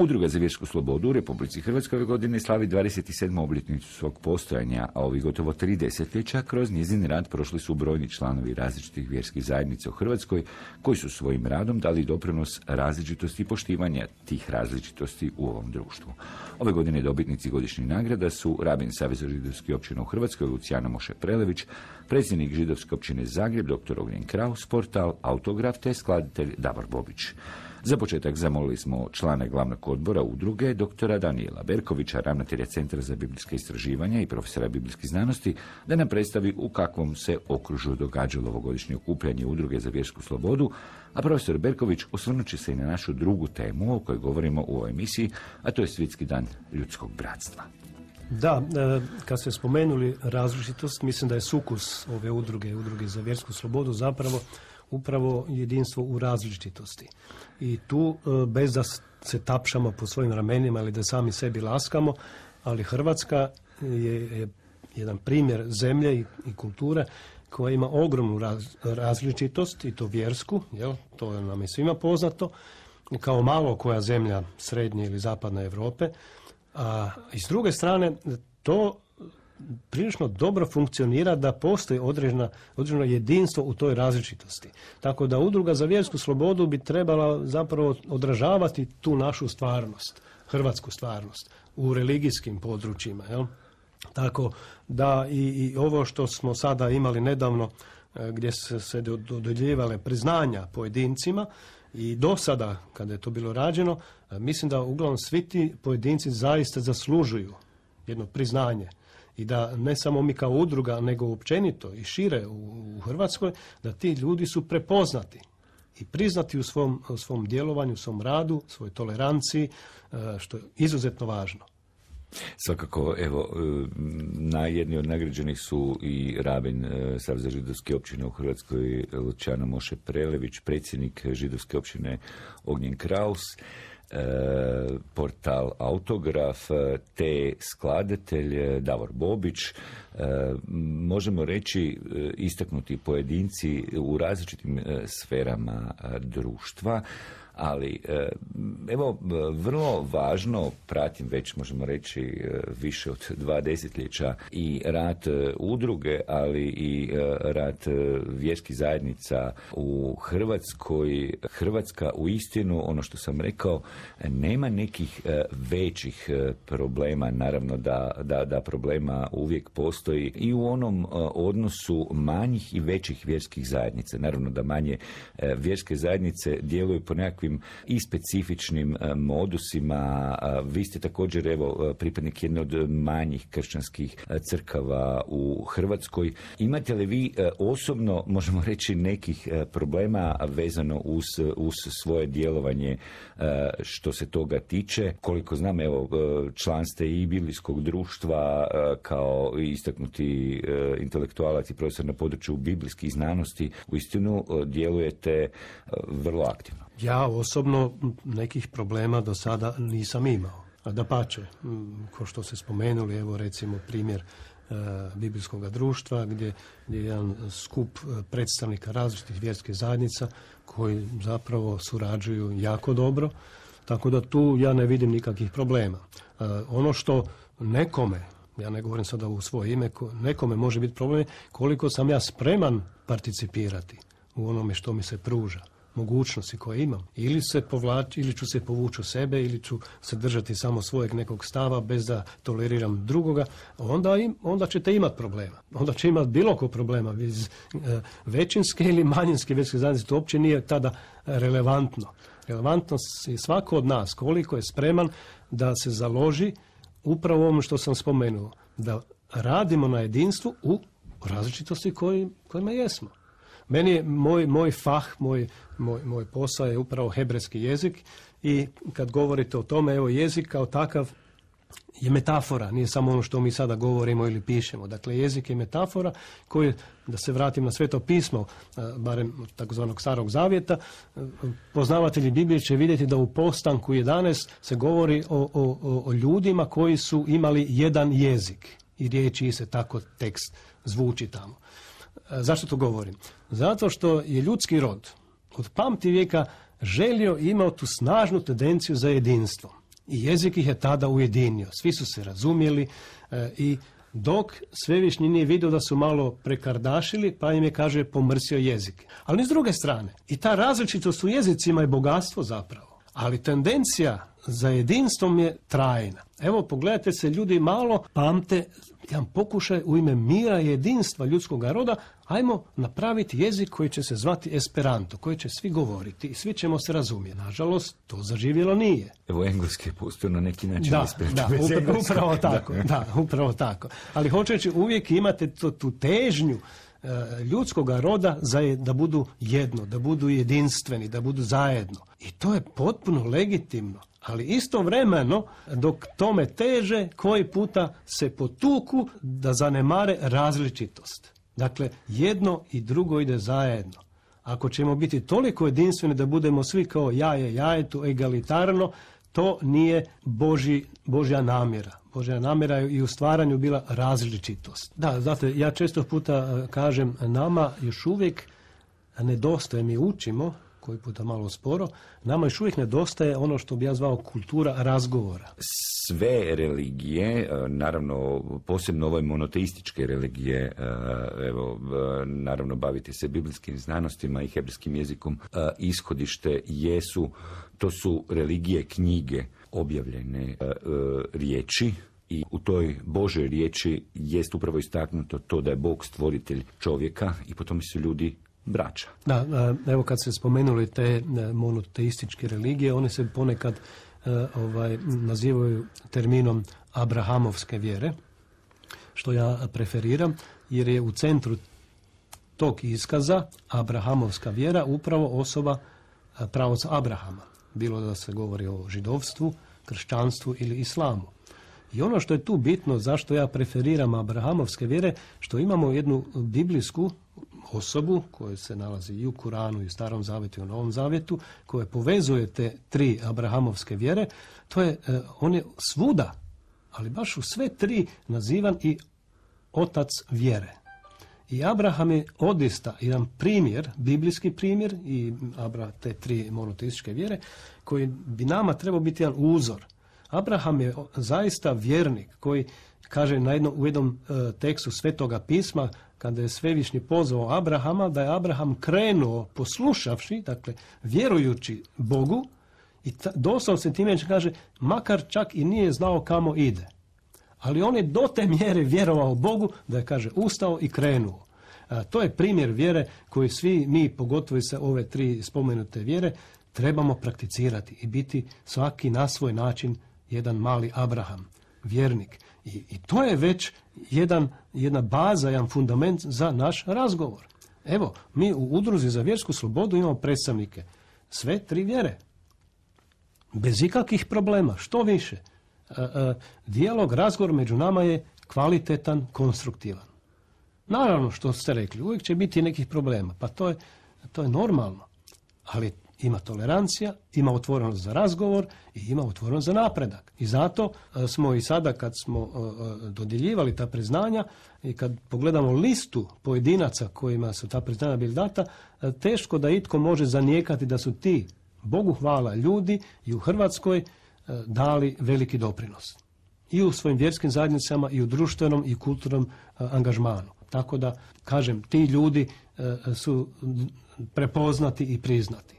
Udruga za vjersku slobodu u Republici Hrvatskoj ove godine slavi 27. obljetnicu svog postojanja, a ovih gotovo 3 desetljeća kroz njezin rad prošli su brojni članovi različitih vjerskih zajednica u Hrvatskoj koji su svojim radom dali doprinos različitosti i poštivanja tih različitosti u ovom društvu. Ove godine dobitnici godišnjih nagrada su rabin Saveza židovskih općina u Hrvatskoj Luciano Moše Prelević, predsjednik židovske općine Zagreb dr. Ognjen Kraus, portal Autograf te skladatelj Davor Bobić. Za početak zamolili smo člana glavnog odbora udruge, doktora Danijela Berkovića, ravnatelja Centra za biblijska istraživanja i profesora biblijskih znanosti, da nam predstavi u kakvom se okružju događalo ovogodišnje okupljanje udruge za vjersku slobodu, a profesor Berković osvrnut će se i na našu drugu temu o kojoj govorimo u ovoj emisiji, a to je Svjetski dan ljudskog bratstva. Da, kad ste spomenuli različitost, mislim da je sukus ove udruge za vjersku slobodu zapravo upravo jedinstvo u različitosti. I tu, bez da se tapšamo po svojim ramenima ili da sami sebi laskamo, ali Hrvatska je jedan primjer zemlje i kulture koja ima ogromnu različitost, i to vjersku, to nam je svima poznato, kao malo koja zemlja srednje ili zapadne Europe. A i s druge strane, to prilično dobro funkcionira da postoji određeno jedinstvo u toj različitosti. Tako da udruga za vjersku slobodu bi trebala zapravo odražavati tu našu stvarnost, hrvatsku stvarnost, u religijskim područjima. Tako da i ovo što smo sada imali nedavno, gdje se dodjeljivale priznanja pojedincima, i do sada, kada je to bilo rađeno, mislim da uglavnom svi ti pojedinci zaista zaslužuju jedno priznanje. I da ne samo mi kao udruga, nego općenito i šire u Hrvatskoj, da ti ljudi su prepoznati i priznati u svom djelovanju, u svom radu, svojoj toleranciji, što je izuzetno važno. Svakako, evo, na jedni od nagrađenih su i rabin Saveza židovske općine u Hrvatskoj Luciano Moše Prelević, predsjednik židovske općine Ognjen Kraus, portal Autograf te skladatelj Davor Bobić. Možemo reći istaknuti pojedinci u različitim sferama društva, ali evo, vrlo važno, pratim već možemo reći više od 2 desetljeća i rad udruge, ali i rad vjerskih zajednica u Hrvatskoj. Hrvatska uistinu, ono što sam rekao, nema nekih većih problema, naravno da problema uvijek postoji i u onom odnosu manjih i većih vjerskih zajednica. Naravno da manje vjerske zajednice djeluju po nekakvim i specifičnim modusima. Vi ste također, evo, pripadnik jedne od manjih kršćanskih crkava u Hrvatskoj. Imate li vi osobno, možemo reći, nekih problema vezano uz svoje djelovanje što se toga tiče? Koliko znam, evo, član ste i biblijskog društva kao istaknuti intelektualac i profesor na području biblijskih znanosti. Uistinu djelujete vrlo aktivno. Ja osobno nekih problema do sada nisam imao. A dapače, kao što ste spomenuli, evo recimo primjer biblijskog društva gdje je jedan skup predstavnika različitih vjerskih zajednica koji zapravo surađuju jako dobro, tako da tu ja ne vidim nikakvih problema. Ono što nekome, ja ne govorim sada u svoje ime, nekome može biti problem koliko sam ja spreman participirati u onome što mi se pruža, mogućnosti koje imam. Ili ću se povući u sebe, ili ću se držati samo svojeg nekog stava bez da toleriram drugoga, onda ćete imati problema. Onda će imati bilo ko problema. Većinske ili manjinske vjerske zajednice, to uopće nije tada relevantno. Relevantno je svako od nas koliko je spreman da se založi upravo ono što sam spomenuo, da radimo na jedinstvu u različitosti kojima jesmo. Meni je moj fah, moj posao je upravo hebrejski jezik i kad govorite o tome, evo, jezik kao takav je metafora, nije samo ono što mi sada govorimo ili pišemo. Dakle, jezik je metafora koji, da se vratim na Sveto pismo, barem takozvanog Starog zavjeta, poznavatelji Biblije će vidjeti da u Postanku 11 se govori o ljudima koji su imali jedan jezik i riječi se tako tekst zvuči tamo. Zašto to govorim? Zato što je ljudski rod od pamtivijeka želio i imao tu snažnu tendenciju za jedinstvo. I jezik ih je tada ujedinio. Svi su se razumjeli i dok Svevišnji nije vidio da su malo prekardašili, pa im je, kaže, pomrsio jezik. Ali ni s druge strane, i ta različitost u jezicima je bogatstvo zapravo. Ali tendencija za jedinstvom je trajna. Evo, pogledajte se, ljudi malo pamte jedan pokušaj u ime mira i jedinstva ljudskog roda, ajmo napraviti jezik koji će se zvati Esperanto, koji će svi govoriti i svi ćemo se razumjeti. Nažalost, to zaživjelo nije. Evo, engleski je pustio na neki način. Upravo tako. Ali hoćeći uvijek imate tu težnju ljudskoga roda da budu jedno, da budu jedinstveni, da budu zajedno. I to je potpuno legitimno. Ali istovremeno, dok tome teže, koji puta se potuku da zanemare različitost. Dakle, jedno i drugo ide zajedno. Ako ćemo biti toliko jedinstveni da budemo svi kao jajetu, egalitarno, to nije Božja namjera. Božja namjera je i u stvaranju bila različitost. Da, znate, ja često puta kažem, nama još uvijek nedostaje, mi učimo, koji puta malo sporo, nama još uvijek nedostaje ono što bi ja zvao kultura razgovora. Sve religije, naravno posebno ove monoteističke religije, evo, naravno baviti se biblijskim znanostima i hebrejskim jezikom, ishodište to su religije knjige, objavljene riječi, i u toj Božoj riječi jest upravo istaknuto to da je Bog stvoritelj čovjeka i potom su ljudi braća. Da, evo kad ste spomenuli te monoteističke religije, one se ponekad nazivaju terminom abrahamovske vjere, što ja preferiram, jer je u centru tog iskaza abrahamovska vjera upravo osoba praoca Abrahama. Bilo da se govori o židovstvu, kršćanstvu ili islamu. I ono što je tu bitno, zašto ja preferiram abrahamovske vjere, što imamo jednu biblijsku osobu koja se nalazi i u Kuranu i u Starom zavjetu i u Novom zavjetu, koja povezuje te tri abrahamovske vjere. On je svuda, ali baš u sve tri nazivan i otac vjere. I Abraham je odista jedan primjer, biblijski primjer i te tri monoteističke vjere, koji bi nama trebao biti jedan uzor. Abraham je zaista vjernik koji kaže u jednom tekstu Svetoga pisma, kada je Svevišnji pozvao Abrahama, da je Abraham krenuo poslušavši, dakle vjerujući Bogu, i doslovno se time kaže, makar čak i nije znao kamo ide. Ali on je do te mjere vjerovao Bogu da je, kaže, ustao i krenuo. To je primjer vjere koji svi mi, pogotovo sa ove tri spomenute vjere, trebamo prakticirati i biti svaki na svoj način jedan mali Abraham, vjernik. I to je već jedna baza, jedan fundament za naš razgovor. Evo, mi u Udruzi za vjersku slobodu imamo predstavnike sve tri vjere. Bez ikakvih problema, što više. Dijalog, razgovor među nama je kvalitetan, konstruktivan. Naravno, što ste rekli, uvijek će biti nekih problema, pa to je normalno. Ali ima tolerancija, ima otvorenost za razgovor i ima otvorenost za napredak. I zato smo i sada kad smo dodjeljivali ta priznanja i kad pogledamo listu pojedinaca kojima su ta priznanja bili data, teško da itko može zanijekati da su ti, Bogu hvala, ljudi i u Hrvatskoj dali veliki doprinos. I u svojim vjerskim zajednicama, i u društvenom i kulturnom angažmanu. Tako da, kažem, ti ljudi su prepoznati i priznati.